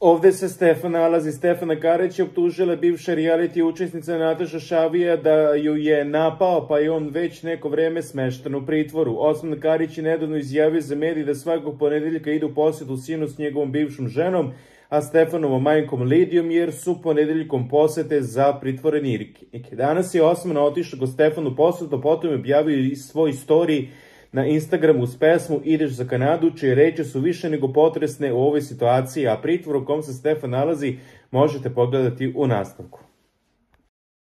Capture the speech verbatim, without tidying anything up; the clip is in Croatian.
Ovde se Stefan nalazi. Stefana Karić je optužila bivša reality učesnica Nataša Šavija da ju je napao, pa je on već neko vreme smešten u pritvoru. Osman Karić je nedavno izjavio za medij da svakog ponedeljka ide u posjetu sinu s njegovom bivšom ženom, a Stefanovom majkom Lidijom, jer su ponedeljkom posete za pritvorenike. Danas je Osman otišao kod Stefanu posvetu, potom je objavio i svoj story na Instagramu uz pesmu Ideš za Kanadu, čije reči su više nego potresne u ovoj situaciji, a pritvor u kom se Stefan nalazi možete pogledati u nastavku.